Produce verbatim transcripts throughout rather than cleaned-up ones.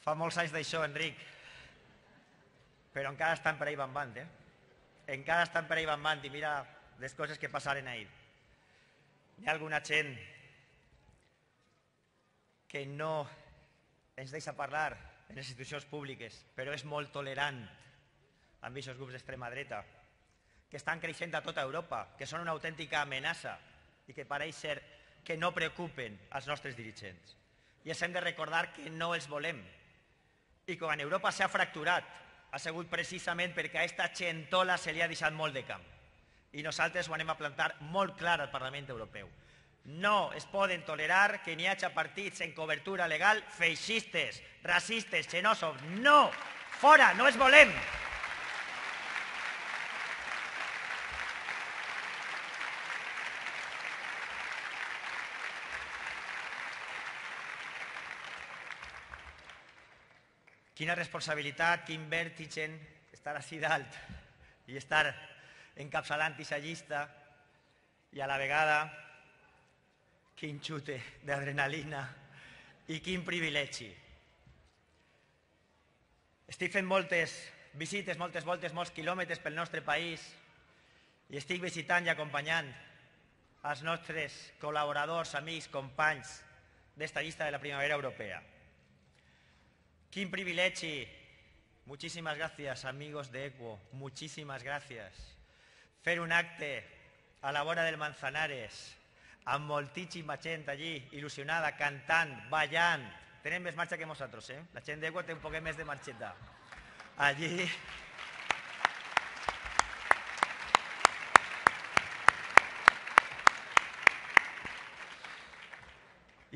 Fa molts anys d'això, Enric, però encara estan per ahí bambant, eh? Encara estan per ahí bambant i mira les coses que passaren ahir. Hi ha alguna gent que no ens deixa parlar en les institucions públiques, però és molt tolerant amb aquests grups d'extrema dreta, que estan creixent a tota Europa, que són una autèntica amenaça i que pareix ser que no preocupen els nostres dirigents. I ens hem de recordar que no els volem. I quan Europa s'ha fracturat, ha sigut precisament perquè a aquesta gentola se li ha deixat molt de camp. I nosaltres ho anem a plantar molt clar al Parlament Europeu. No es poden tolerar que n'hi hagi partits en cobertura legal feixistes, racistes, xenòfobs. No! Fora! No els volem! Quina responsabilitat, quin vèrtigen estar així dalt i estar encapçalant aquesta llista i a la vegada quin xute d'adrenalina i quin privilegi. Estic fent moltes visites, moltes voltes, molts quilòmetres pel nostre país i estic visitant i acompanyant els nostres col·laboradors, amics, companys d'esta llista de la Primavera Europea. Quin privilegi. Muchísimas gracias, amigos de ECUO. Muchísimas gracias. Fer un acte a la vora del Manzanares amb moltíssima gent allí, il·lusionada, cantant, ballant. Tenen més marxa que nosaltres, eh? La gent d'ECUO té un poquet més de marxeta. Allí...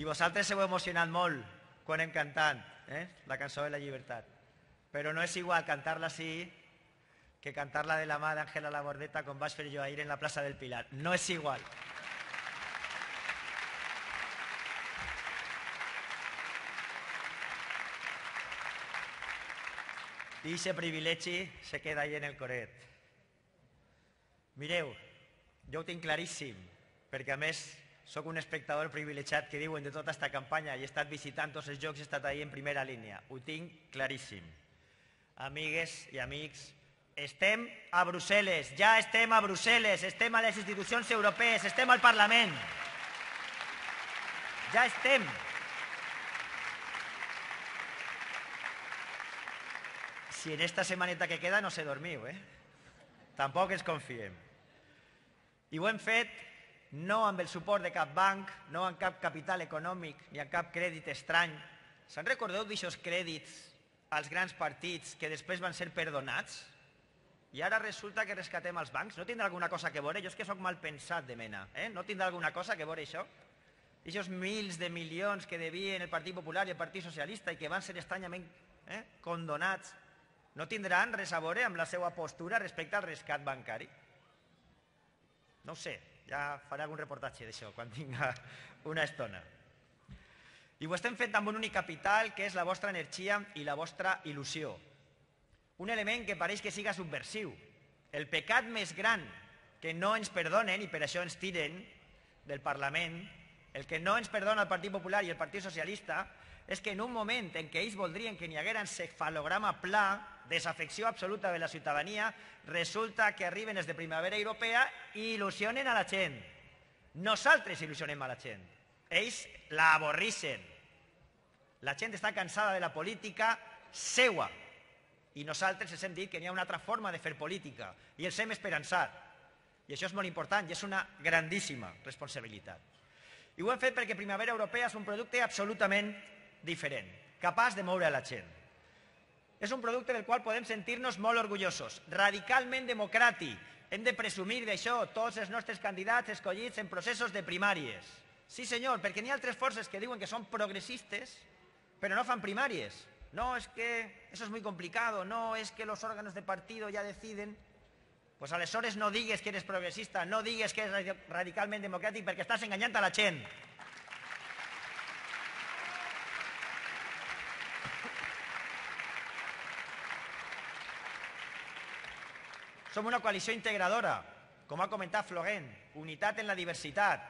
I vosaltres heu emocionat molt quan hem cantat eh? la cançó de la llibertat. Però no és igual cantar-la així que cantar-la de la mà d'Àngela Labordeta com vaig fer jo ahir en la plaça del Pilar. No és igual. I aquest privilegi se queda ahí en el coret. Mireu, jo ho tinc claríssim, perquè a més soc un espectador privilegiat que diuen de tota aquesta campanya i he estat visitant tots els jocs, he estat ahí en primera línia. Ho tinc claríssim. Amigues i amics, estem a Brussel·les, ja estem a Brussel·les, estem a les institucions europees, estem al Parlament. Ja estem. Si en esta setmaneta que queda no se dormiu, eh? Tampoc ens confiem. I ho hem fet no amb el suport de cap banc, no amb cap capital econòmic ni amb cap crèdit estrany. Se'n recordeu d'aixòs crèdits als grans partits que després van ser perdonats? I ara resulta que rescatem els bancs? No tindrà alguna cosa que veure? Jo és que sóc mal pensat de mena. Eh? No tindrà alguna cosa que veure això? Aquests mils de milions que devien el Partit Popular i el Partit Socialista i que van ser estranyament eh, condonats, no tindran res a veure amb la seva postura respecte al rescat bancari? No ho sé, ja faré algun reportatge d'això quan tinga una estona. I ho estem fent amb un únic capital, que és la vostra energia i la vostra il·lusió. Un element que pareix que siga subversiu. El pecat més gran que no ens perdonen, i per això ens tiren del Parlament, el que no ens perdona el Partit Popular i el Partit Socialista, és que en un moment en què ells voldrien que n'hi haguera encefalograma pla, desafecció absoluta de la ciutadania, resulta que arriben els de Primavera Europea i il·lusionen a la gent. Nosaltres il·lusionem a la gent. Ells la avorrixen. La gent està cansada de la política seua. I nosaltres els hem dit que n'hi ha una altra forma de fer política i els hem esperançat. I això és molt important i és una grandíssima responsabilitat. I ho hem fet perquè Primavera Europea és un producte absolutament diferent, capaç de moure a la gent. És un producte del qual podem sentir-nos molt orgullosos, radicalment democràtic. Hem de presumir d'això tots els nostres candidats escollits en processos de primàries. Sí, senyor, perquè n'hi ha altres forces que diuen que són progressistes, però no fan primàries. No, es que eso es muy complicado, no, es que los órganos de partido ya deciden. Pues aleshores no digues que eres progressista, no digues que eres radicalment democràtic perquè estàs enganyant a la gent. Som una coalició integradora, com ha comentat Florent, unitat en la diversitat.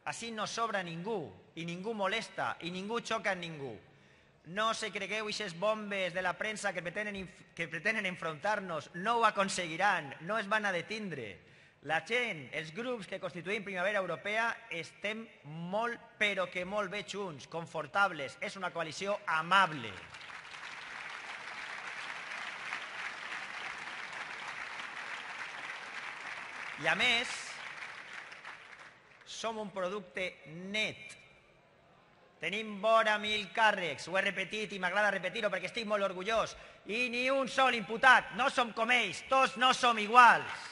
Així no sobra ningú, i ningú molesta, i ningú xoca en ningú. No se cregueu aquestes bombes de la premsa que pretenen, que pretenen enfrontar-nos. No ho aconseguiran, no es van a detindre. La gent, els grups que constituïm Primavera Europea, estem molt, però que molt bé junts, confortables. És una coalició amable. I a més, som un producte net. Tenim vora mil càrrecs, ho he repetit i m'agrada repetir-ho perquè estic molt orgullós, i ni un sol imputat, no som com ells, tots no som iguals.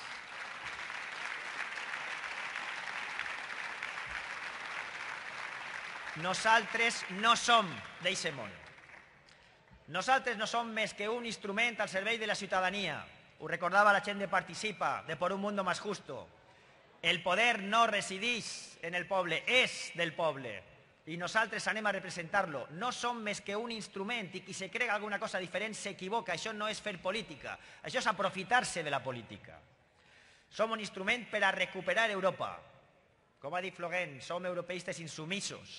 Nosaltres no som d'eixe món. Nosaltres no som més que un instrument al servei de la ciutadania. Ho recordava la gent de Participa, de Por un Mundo Más Justo. El poder no resideix en el poble, és del poble. I nosaltres anem a representar-lo. No som més que un instrument i qui se crega alguna cosa diferent s'equivoca. Això no és fer política, això és aprofitar-se de la política. Som un instrument per a recuperar Europa. Com ha dit Floguent, som europeistes insumisos,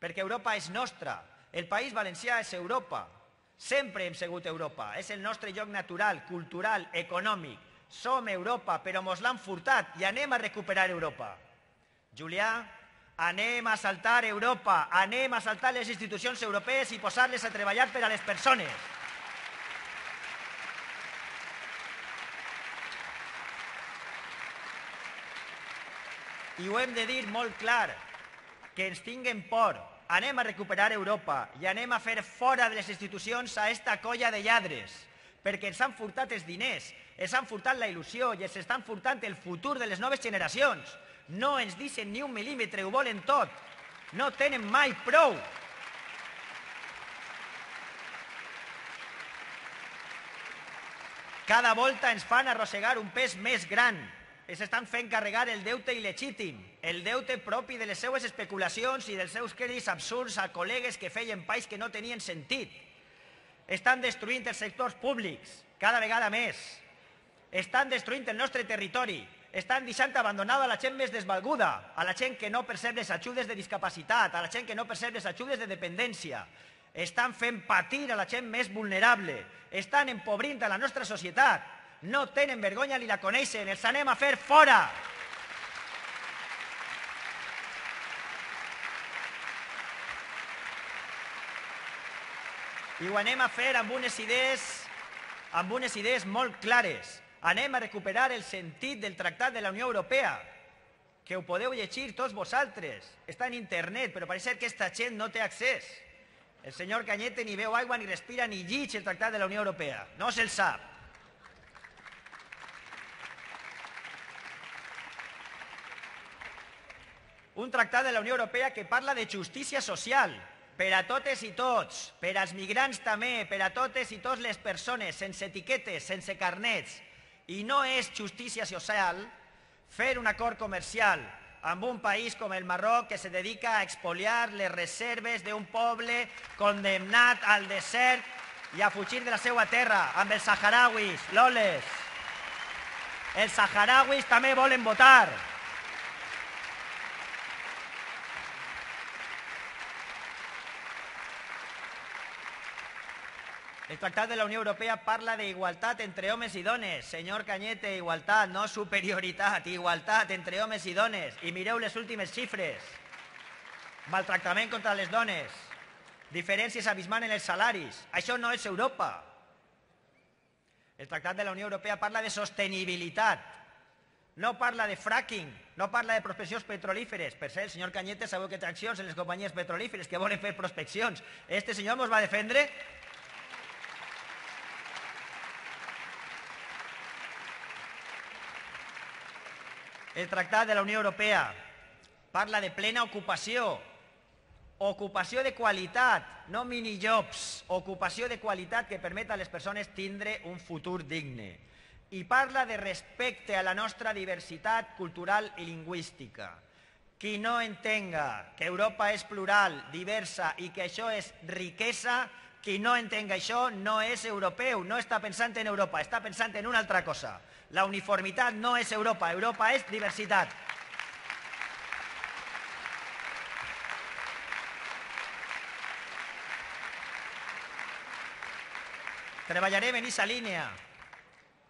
perquè Europa és nostra. El País Valencià és Europa. Sempre hem sigut Europa. És el nostre lloc natural, cultural, econòmic. Som Europa, però mos l'han furtat i anem a recuperar Europa. Julià, anem a saltar Europa, anem a saltar les institucions europees i posar-les a treballar per a les persones. I ho hem de dir molt clar, que ens tinguen por. Anem a recuperar Europa i anem a fer fora de les institucions a esta colla de lladres, perquè ens han furtat els diners, ens han furtat la il·lusió i ens estan furtant el futur de les noves generacions. No ens deixen ni un mil·límetre, ho volen tot. No tenen mai prou. Cada volta ens fan arrossegar un pes més gran. Ens estan fent carregar el deute il·legítim, el deute propi de les seues especulacions i dels seus crèdits absurds a col·legues que feien país que no tenien sentit. Estan destruint els sectors públics, cada vegada més. Estan destruint el nostre territori. Estan deixant abandonada a la gent més desvalguda, a la gent que no percep les ajudes de discapacitat, a la gent que no percep les ajudes de dependència. Estan fent patir a la gent més vulnerable. Estan empobrint a la nostra societat. No tenen vergonya ni la coneixen. Els anem a fer fora. I ho anem a fer amb unes idees, amb unes idees molt clares. Anem a recuperar el sentit del Tractat de la Unió Europea, que ho podeu llegir tots vosaltres. Està en internet, però pareix ser que aquesta gent no té accés. El senyor Cañete ni veu aigua, ni respira, ni llig el Tractat de la Unió Europea. No se'l sap. Un tractat de la Unió Europea que parla de justícia social, per a totes i tots, per als migrants també, per a totes i totes les persones, sense etiquetes, sense carnets. I no és justícia social fer un acord comercial amb un país com el Marroc que se dedica a expoliar les reserves d'un poble condemnat al desert i a fugir de la seva terra, amb els saharauis, loles. Els saharauis també volen votar. El Tractat de la Unió Europea parla d'igualtat entre homes i dones. Senyor Cañete, igualtat, no superioritat, igualtat entre homes i dones. I mireu les últimes xifres. Maltractament contra les dones, diferències abismants en els salaris. Això no és Europa. El Tractat de la Unió Europea parla de sostenibilitat. No parla de fracking, no parla de prospeccions petrolíferes. Per cert, el senyor Cañete sabeu que té accions en les companyies petrolíferes que volen fer prospeccions. Este senyor ens va defendre. El Tractat de la Unió Europea parla de plena ocupació, ocupació de qualitat, no minijobs, ocupació de qualitat que permet a les persones tindre un futur digne. I parla de respecte a la nostra diversitat cultural i lingüística. Qui no entenga que Europa és plural, diversa i que això és riquesa, qui no entenga això no és europeu, no està pensant en Europa, està pensant en una altra cosa. La uniformitat no és Europa, Europa és diversitat. Treballarem en aquesta línia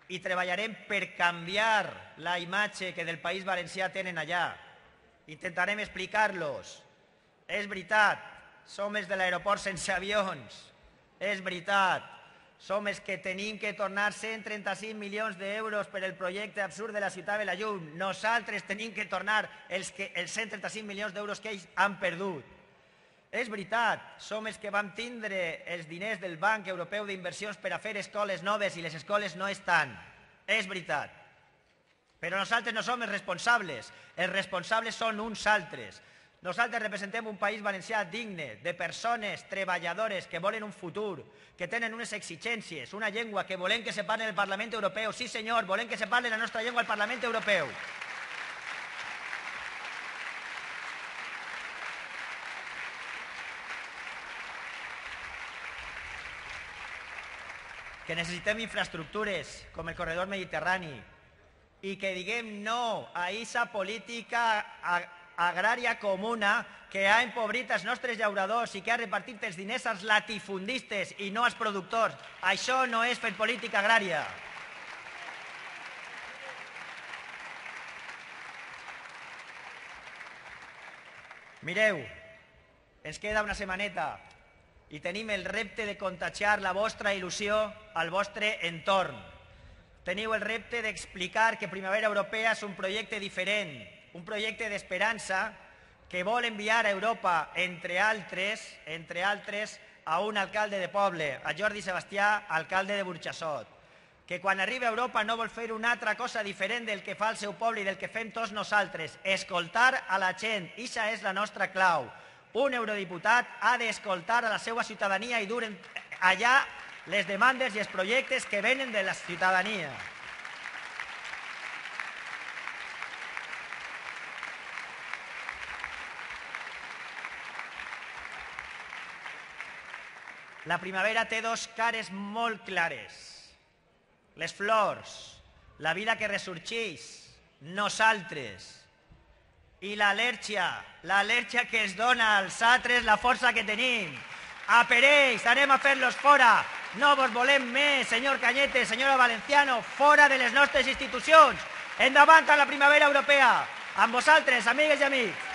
i treballarem per canviar la imatge que del País Valencià tenen allà. Intentarem explicar-los. És veritat, som els de l'aeroport sense avions. És veritat, som els que tenim que tornar cent trenta-cinc milions d'euros per el projecte absurd de la ciutat de la llum. Nosaltres tenim que tornar els, que, els cent trenta-cinc milions d'euros que ells han perdut. És veritat, som els que vam tindre els diners del Banc Europeu d'Inversions per a fer escoles noves i les escoles no estan. És veritat. Però nosaltres no som els responsables. Els responsables són uns altres. Nosaltres representem un país valencià digne, de persones treballadores que volen un futur, que tenen unes exigències, una llengua que volem que se parli en el Parlament Europeu. Sí, senyor, volem que se parli la nostra llengua al Parlament Europeu. Que necessitem infraestructures com el corredor mediterrani i que diguem no a aquesta política agrària comuna que ha empobrit els nostres llauradors i que ha repartit els diners als latifundistes i no als productors. Això no és fer política agrària. Mireu, ens queda una setmaneta i tenim el repte de contagiar la vostra il·lusió al vostre entorn. Teniu el repte d'explicar que Primavera Europea és un projecte diferent, un projecte d'esperança que vol enviar a Europa, entre altres, entre altres, a un alcalde de poble, a Jordi Sebastià, alcalde de Burjassot, que quan arriba a Europa no vol fer una altra cosa diferent del que fa el seu poble i del que fem tots nosaltres, escoltar a la gent. Ixa és la nostra clau. Un eurodiputat ha d'escoltar a la seva ciutadania i dur allà les demandes i els projectes que venen de la ciutadania. La primavera té dos cares molt clares. Les flors, la vida que ressorgeix, nosaltres. I l'al·lèrgia, l'al·lèrgia que es dona als altres la força que tenim. A per ells, anem a fer-los fora. No vos volem més, senyor Cañete, senyora Valenciano, fora de les nostres institucions. Endavant a la primavera europea. Amb vosaltres, amigues i amics.